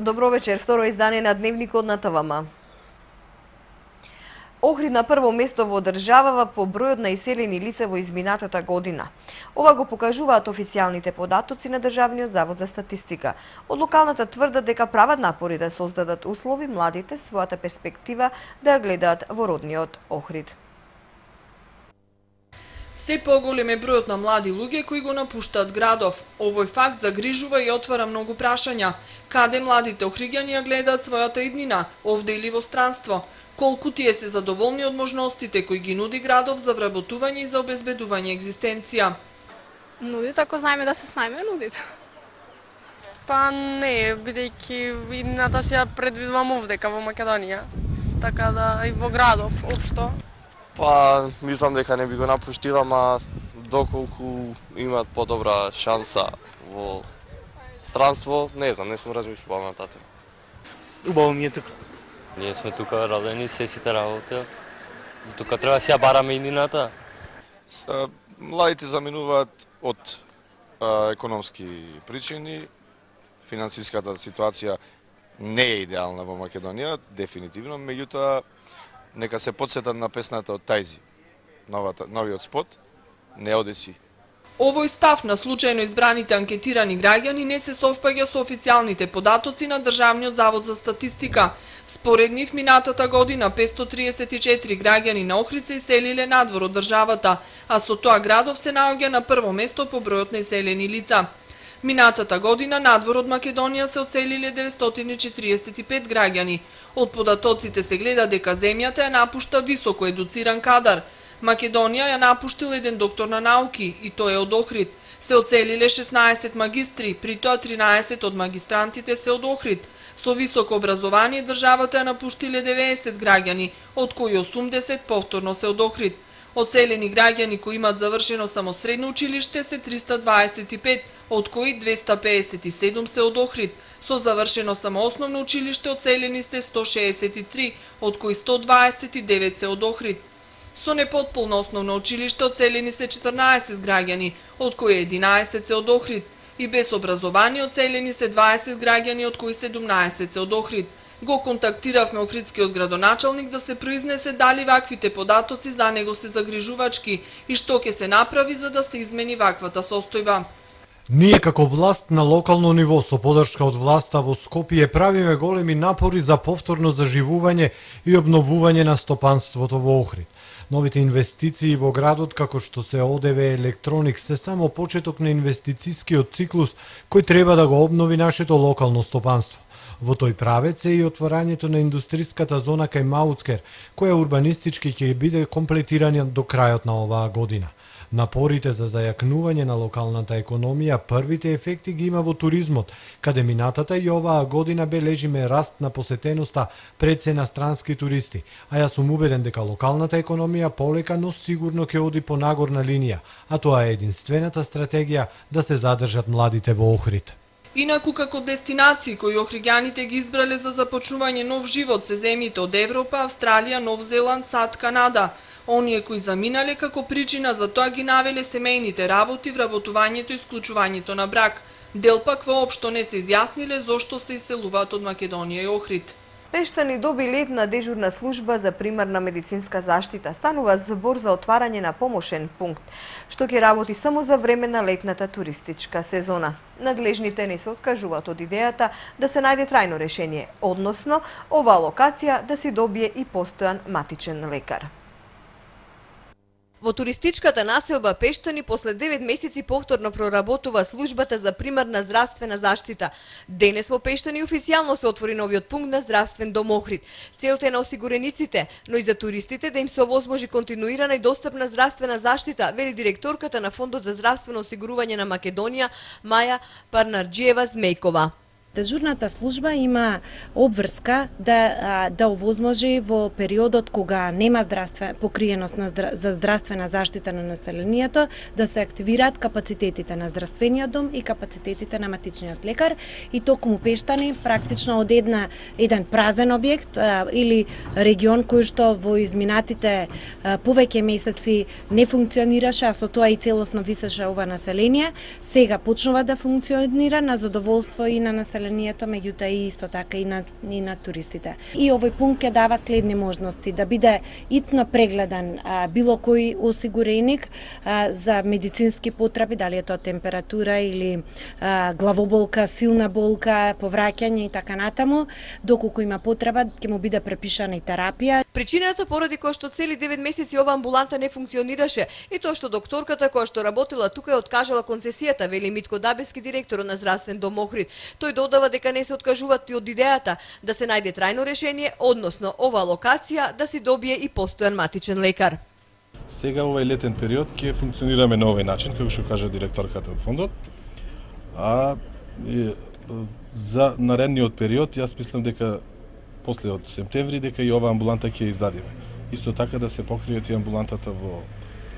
Добро вечер, второ издание на Дневникот на ТВМ. Охрид на прво место во државава по бројот на иселени лица во изминатата година. Ова го покажуваат официјалните податоци на Државниот завод за статистика. Од локалната тврдат дека прават напори да создадат услови младите својата перспектива да ја гледаат во родниот Охрид. Се поголем е бројот на млади луѓе кои го напуштаат градов. Овој факт загрижува и отвара многу прашања. Каде младите охриѓани ја гледаат својата иднина, овде или во странство? Колку тие се задоволни од можностите кои ги нуди градов за вработување и за обезбедување екзистенција? Нудите, ако знаеме да се снајме, нудите. Па не, бидејќи идната си ја предвидувам овдека во Македонија, така да и во градов, општо. Па, мислам дека не би го напуштила, ма доколку имаат подобра шанса во странство, не знам, не сум размислувал на таа тема. Убаво ми е тука. Ние сме тука родени, се сите работи. Тука треба си ја бараме иднината. Младите заминуваат од економски причини. Финансиската ситуација не е идеална во Македонија, дефинитивно, меѓутоа нека се потсетат на песната од Тајзи, новиот спот, не одеси. Овој став на случајно избраните анкетирани граѓани не се совпаѓа со официјалните податоци на Државниот завод за статистика. Според нив, минатата година 534 граѓани на Охрид се иселиле надвор од државата, а со тоа градов се наоѓа на прво место по бројот на иселени лица. Минатата година надвор од Македонија се одселиле 945 граѓани. Од податоците се гледа дека земјата ја напушта високо едуциран кадар. Македонија ја напуштил еден доктор на науки, и тој е од Охрид. Се одселиле 16 магистри, при тоа 13 од магистрантите се од Охрид. Со високо образование државата ја напуштиле 90 граѓани, од кои 80 повторно се од Охрид. Одселени граѓани кои имаат завршено само средно училиште се 325, од кои 257 се од Охрид. Со завршено само основно училиште одселени се 163, од кои 129 се од Охрид. Со непотполно основно училиште одселени се 14 граѓани, од кои 11 се од Охрид, и без образование одселени се 20 граѓани, од кои 17 се од Охрид. Го контактиравме охридскиот градоначалник да се произнесе дали ваквите податоци за него се загрижувачки и што ќе се направи за да се измени ваквата состојба. Ние како власт на локално ниво со поддршка од власта во Скопје правиме големи напори за повторно заживување и обновување на стопанството во Охрид. Новите инвестиции во градот, како што се ОДВ Електроник, се само почеток на инвестицискиот циклус кој треба да го обнови нашето локално стопанство. Во тој правец е и отворањето на индустриската зона кај Мауцкер, која урбанистички ќе биде комплетирана до крајот на оваа година. Напорите за зајакнување на локалната економија првите ефекти ги има во туризмот, каде минатата и оваа година бележиме раст на посетеноста пред се на странски туристи, а јас сум убеден дека локалната економија полека, но сигурно ќе оди по нагорна линија, а тоа е единствената стратегија да се задржат младите во Охрид. Инаку како дестинации кои охриѓаните ги избрале за започнување нов живот се земјите од Европа, Австралија, Нов Зеланд, САД, Канада. Оние кои заминале како причина за тоа ги навеле семејните работи, вработувањето и исклучувањето на брак. Дел пак воопшто не се изјасниле зошто се иселуваат од Македонија и Охрид. Пештани доби летна дежурна служба за примарна медицинска заштита. Станува збор за отварање на помошен пункт, што ќе работи само за време на летната туристичка сезона. Надлежните не се откажуваат од идејата да се најде трајно решение, односно оваа локација да си добие и постојан матичен лекар. Во туристичката населба Пештани после 9 месеци повторно проработува службата за примарна здравствена заштита. Денес во Пештани официјално се отвори новиот пункт на здравствен дом Охрид. Целта е на осигурениците, но и за туристите да им се овозможи континуирана и достапна здравствена заштита, вели директорката на Фондот за здравствено осигурување на Македонија Маја Парнарџиева Змејкова. Дежурната служба има обврска да овозможи во периодот кога нема покриеност за здравствена заштита на населението да се активираат капацитетите на здравствениот дом и капацитетите на матичниот лекар и токму Пештани практично од еден празен објект или регион кој што во изминатите повеќе месеци не функционираше, а со тоа и целосно висеше ова население, сега почнува да функционира на задоволство и на населението населението, меѓутоа и исто така и на туристите. И овој пункт ќе дава следни можности: да биде итно прегледан било кој осигуреник за медицински потреби, дали е тоа температура или главоболка, силна болка, повраќање и така натаму, доколку има потреба ќе му биде препишана и терапија. Причината поради која што цели 9 месеци ова амбуланта не функционираше и тоа што докторката која што работела тука е откажала концесијата, вели Митко Дабевски, директор на Здравствен дом Охрид. Тој додава дека не се откажуваат и од идејата да се најде трајно решение, односно оваа локација да си добие и постојан матичен лекар. Сега овај летен период ќе функционираме на овој начин, како што кажа директорката од фондот. За наредниот период јас мислам дека после од септември дека и оваа амбуланта ќе издадиме. Исто така да се покријат и амбулантата во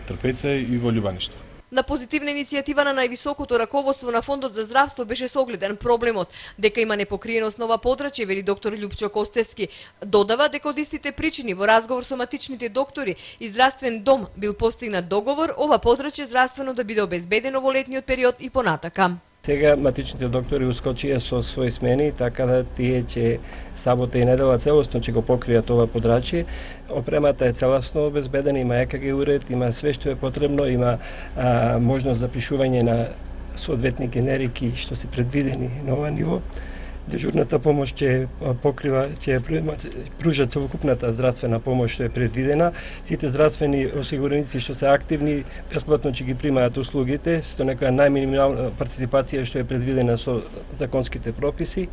Трпеца и во Љубаниште. На позитивна иницијатива на највисокото раководство на Фондот за здравство беше согледен проблемот дека има непокриеност на ова подрачје, вели доктор Љупчо Костески. Додава дека од истите причини во разговор со матичните доктори и Здравствен дом бил постигнат договор ова подрачје здравствено да биде обезбедено во летниот период и понатака. Сега матичните доктори ускочија со своји смени, така да тие ќе сабота и недела целосно ќе го покријат ова подрачје. Опремата е целосно обезбедена, има ЕКГ уред, има све што е потребно, има можност за пишување на соодветни генерики што се предвидени на ова ниво. Дежурната помош ќе покрива, ќе пружа целокупната здравствена помош што е предвидена. Сите здравствени осигуреници што се активни бесплатно ќе ги примаат услугите со некоја најминимална партиципација што е предвидена со законските прописи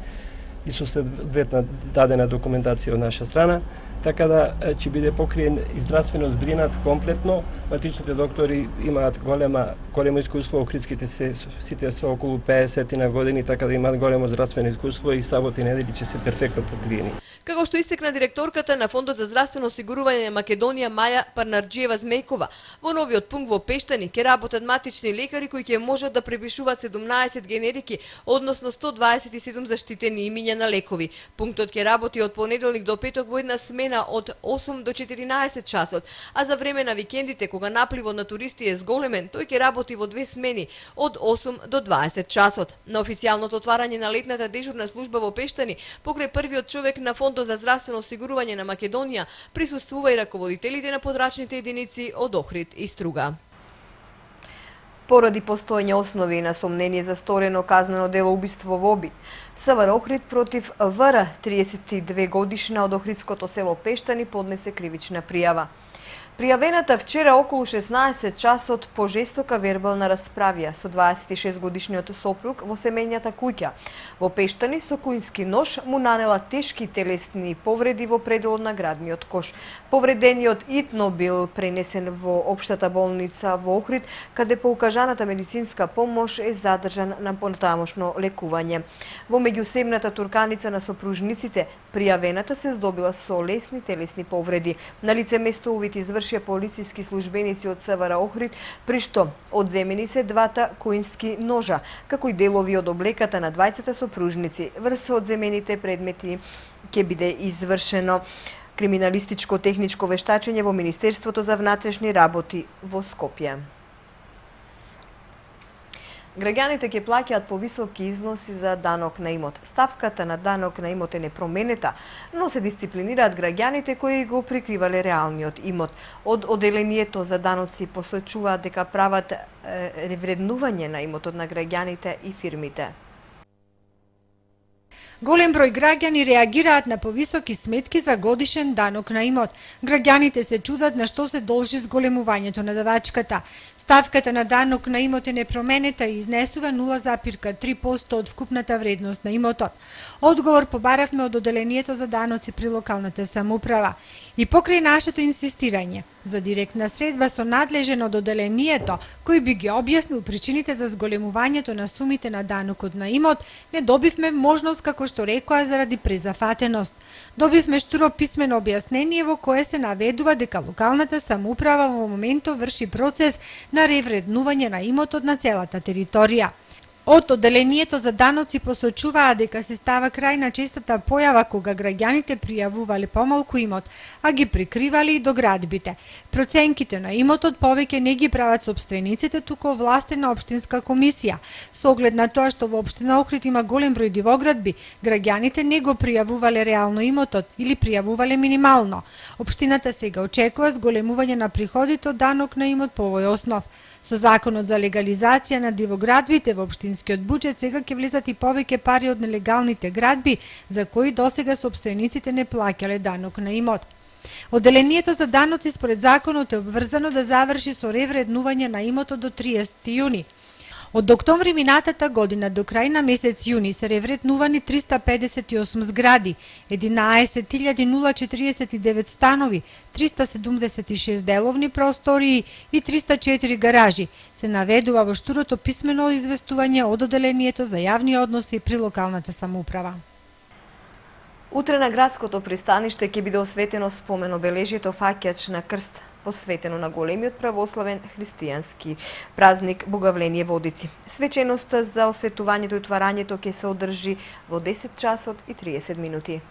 и со соодветна дадена документација од наша страна, така да ќе биде покриен и здравствено збринат комплетно. Матичните доктори имаат големо искуство, охридските сите со околу 50 на години, така да имаат големо здравствено искуство и сабота и недели ќе се перфектно покриени. Како што истекна директорката на Фондот за здравствено осигурување на Македонија Маја Парнарџиева Змејкова, во новиот пункт во Пештани ќе работат матични лекари кои ќе можат да препишуваат 17 генерики, односно 127 заштитени имиња на лекови. Пунктот ќе работи од понеделник до петок во една смена од 8 до 14 часот, а за време на викендите кога напливот на туристи е зголемен, тој ќе работи во 2 смени од 8 до 20 часот. На официјалното отварање на летната дежурна служба во Пештани, покрај првиот човек на Фондот за здравствено осигурување на Македонија, присуствува и раководителите на подрачните единици од Охрид и Струга. Поради постоење основи на сомнение за сторено казнено дело убиство во обид, СВР Охрид против ВР, 32 годишна од охридското село Пештани, поднесе кривична пријава. Пријавената вчера околу 16 часот по жестока вербална расправија со 26 годишниот сопруг во семејната куќа во Пештани со кујнски нож му нанела тешки телесни повреди во пределот на градниот кош. Повредениот итно бил пренесен во општата болница во Охрид, каде по укажаната медицинска помош е задржан на понатамошно лекување. Во меѓусебната турканица на сопружниците, пријавената се здобила со лесни телесни повреди. На лице место увид извршија полициски службеници од СВР Охрид, при што одземени се двата кујнски ножа, како и делови од облеката на двајцата сопружници. Врз одземените предмети ќе биде извршено криминалистичко техничко вештачење во Министерството за внатрешни работи во Скопје. Граѓаните ќе плаќаат повисоки износи за данок на имот. Ставката на данок на имот е непроменета, но се дисциплинираат граѓаните кои го прикривале реалниот имот. Од Оделението за даноци посочуваат дека прават ревреднување на имотот на граѓаните и фирмите. Голем број граѓани реагираат на повисоки сметки за годишен данок на имот. Граѓаните се чудат на што се должи зголемувањето на давачката. Ставката на данок на имот е непроменета и изнесува 0,3% од вкупната вредност на имотот. Одговор побаравме од Оделението за даноци при локалната самоуправа. И покрај нашето инсистирање за директна средба со надлежен од Оделението, кој би ги објаснил причините за зголемувањето на сумите на данокот на имот, не добивме можност, како што рекоа, заради презафатеност. Добивме штуро писмено објаснение во кое се наведува дека локалната самоуправа во моментот врши процес на ревреднување на имотот на целата територија. Од одделението за даноци посочуваа дека се става крај на честата појава кога граѓаните пријавувале помалку имот, а ги прикривале и доградбите. Проценките на имотот повеќе не ги прават сопствениците, туку овластена општинска комисија. Со оглед на тоа што во општина Охрид има голем број дивоградби, граѓаните не го пријавувале реално имотот или пријавувале минимално. Општината сега очекува зголемување на приходите од данок на имот по овој основ. Со законот за легализација на дивоградбите во општинскиот буџет сега ќе влезат и повеќе пари од нелегалните градби, за кои досега сопствениците не плаќале данок на имот. Одделението за даноци според законот е обврзано да заврши со ревреднување на имотот до 30 јуни. Од октомври минатата година до крај на месец јуни се ревреднувани 358 згради, 11.049 станови, 376 деловни простории и 304 гаражи. Се наведува во штурото писмено известување од одделението за јавни односи при локалната самоуправа. Утре на градското пристаниште ќе биде осветено спомен обележјето фаќач на крст, посветено на големиот православен христијански празник Боговление Водици. Свеченоста за осветувањето и отварањето ќе се одржи во 10 часот и 30 минути.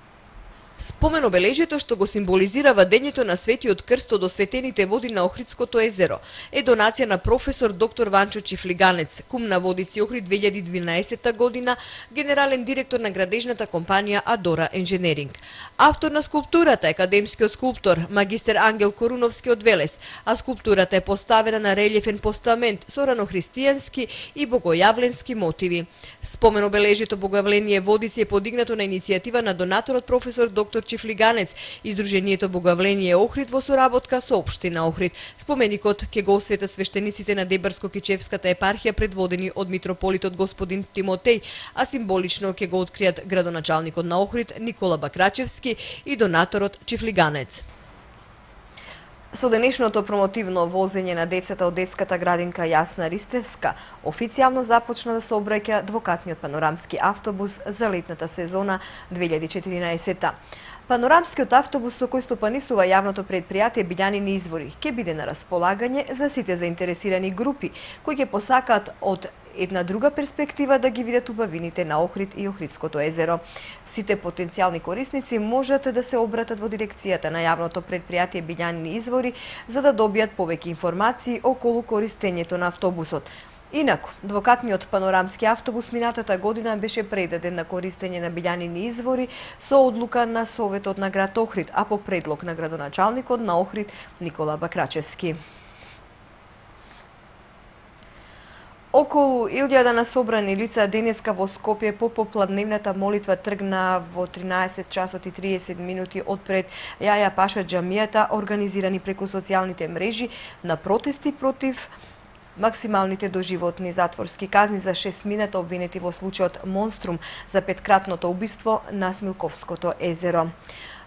Спомен обележјето што го символизира вадењето на Светиот крст од осветените води на Охридското езеро е донација на професор доктор Ванчо Чифлиганец, кум на Водици Охрид 2012 година, генерален директор на градежната компанија Адора Енженеринг. Автор на скулптурата е академскиот скулптор магистер Ангел Коруновски од Велес, а скулптурата е поставена на релјефен постамент со ранохристијански и богојавленски мотиви. Спомен обележјето Боговление Водици е подигнато на иницијатива на донаторот професор доктор Чифлиганец, издруженијето Боговление Охрид во соработка со општина Охрид. Споменикот ќе го осветат свештениците на Дебарско-Кичевската епархија предводени од митрополитот господин Тимотеј, а символично ќе го откријат градоначалникот на Охрид Никола Бакрачевски и донаторот Чифлиганец. Со денешното промотивно возење на децата од детската градинка Јасна Ристевска, официјално започна да се обраќа двокатниот панорамски автобус за летната сезона 2014. Панорамскиот автобус со кој стопанисува јавното предпријатие Билјанини извори ќе биде на располагање за сите заинтересирани групи кои ќе посакаат од една друга перспектива да ги видат убавините на Охрид и Охридското езеро. Сите потенцијални корисници можат да се обратат во дирекцијата на јавното предпријатие Билјанини извори за да добијат повеќе информации околу користењето на автобусот. Инаку, двокатниот панорамски автобус минатата година беше предаден на користење на Билјанини извори со одлука на Советот на град Охрид, а по предлог на градоначалникот на Охрид Никола Бакрачевски. Околу 1000 на собрани лица денеска во Скопје по попладневната молитва тргна во 13 часот и 30 минути од пред Јаја Паша џамијата, организирани преку социјалните мрежи на протести против максималните доживотни затворски казни за 6 мината обвинети во случајот Монструм за петкратното убиство на Смилковското езеро.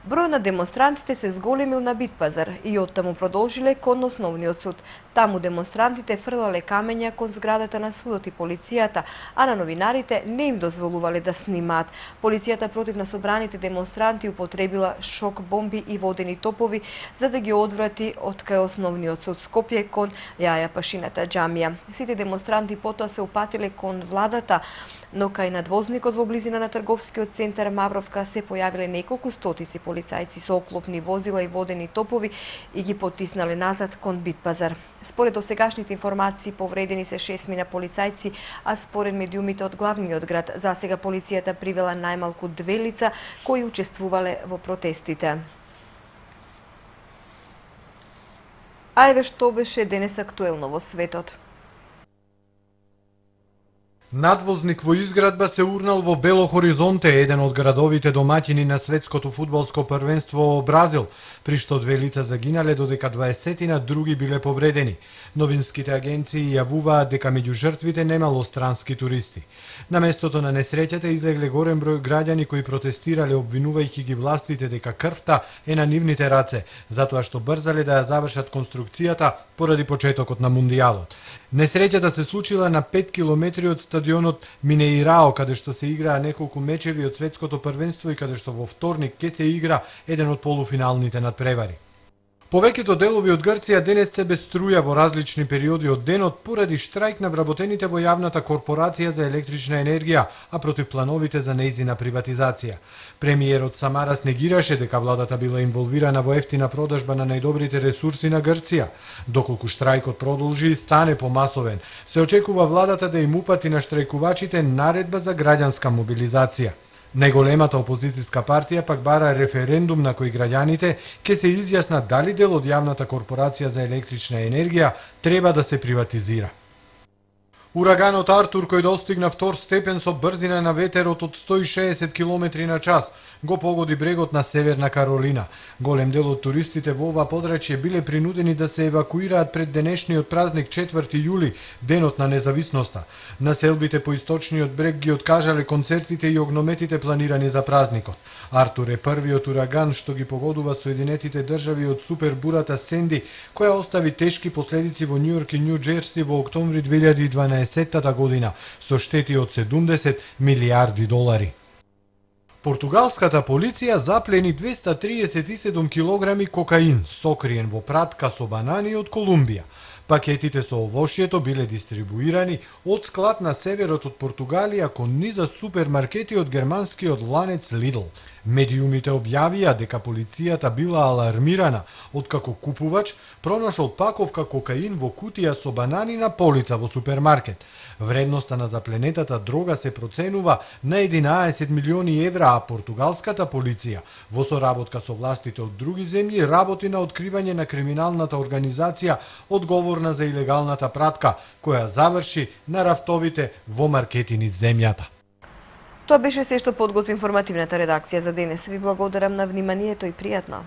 Број на демонстрантите се зголемил на Битпазар и оттаму продолжиле кон основниот суд. Таму демонстрантите фрлале камења кон зградата на судот и полицијата, а на новинарите не им дозволувале да снимаат. Полицијата против на собраните демонстранти употребила шок бомби и водени топови за да ги одврати од кај основниот суд Скопје кон Јаја Пашината џамија. Сите демонстранти потоа се упатиле кон владата, но кај надвозникот во близина на трговскиот центар Мавровка се појавиле неколку стотици полицајци со оклопни возила и водени топови и ги потиснале назад кон Битпазар. Според досегашните информации повредени се 6 полицајци, а според медиумите од главниот град, засега полицијата привела најмалку 2 лица кои учествувале во протестите. А еве што беше денес актуелно во светот. Надвозник во изградба се урнал во Бело Хоризонте, еден од градовите домаќини на светското фудбалско првенство во Бразил, при што 2 лица загинале, додека 20 други биле повредени. Новинските агенции јавуваат дека меѓу жртвите немало странски туристи. На местото на несреќата излегле голем број граѓани кои протестирале обвинувајќи ги властите дека крвта е на нивните раце, затоа што брзале да ја завршат конструкцијата поради почетокот на мундијалот. Несреќата се случила на 5 километри од стадионот Минеирао, каде што се играа неколку мечеви од светското првенство и каде што во вторник ќе се игра еден од полуфиналните надпревари. Повеќето делови од Грција денес се без струја во различни периоди од денот поради штрајк на вработените во јавната корпорација за електрична енергија, а против плановите за нејзина приватизација. Премиерот Самарас негираше дека владата била инволвирана во ефтина продажба на најдобрите ресурси на Грција. Доколку штрајкот продолжи и стане помасовен, се очекува владата да им упати на штрајкувачите наредба за граѓанска мобилизација. Најголемата опозицијска партија пак бара референдум на кој граѓаните ќе се изјаснат дали дел од јавната корпорација за електрична енергија треба да се приватизира. Ураганот Артур, кој достигна втор степен со брзина на ветерот од 160 км на час, го погоди брегот на Северна Каролина. Голем дел од туристите во ова подрачје биле принудени да се евакуираат пред денешниот празник 4 јули, денот на независноста. Населбите по источниот брег ги откажале концертите и огнометите планирани за празникот. Артур е првиот ураган што ги погодува Соединетите држави од супербурата Сенди, која остави тешки последици во Њујорк и Њу Џерси во октомври 2012 година со штети од 70 милијарди долари. Португалската полиција заплени 237 килограми кокаин, сокриен во пратка со банани од Колумбија. Пакетите со овошјето биле дистрибуирани од склад на северот од Португалија кон низа супермаркети од германскиот ланец Lidl. Медиумите објавија дека полицијата била алармирана откако купувач пронашол паковка кокаин во кутија со банани на полица во супермаркет. Вредноста на запленетата дрога се проценува на 11 милиони евра, а португалската полиција во соработка со властите од други земји работи на откривање на криминалната организација одговорна за илегалната пратка, која заврши на рафтовите во маркети низ земјата. Тоа беше се што подготви информативната редакција за денес. Ви благодарам на вниманието и пријатно.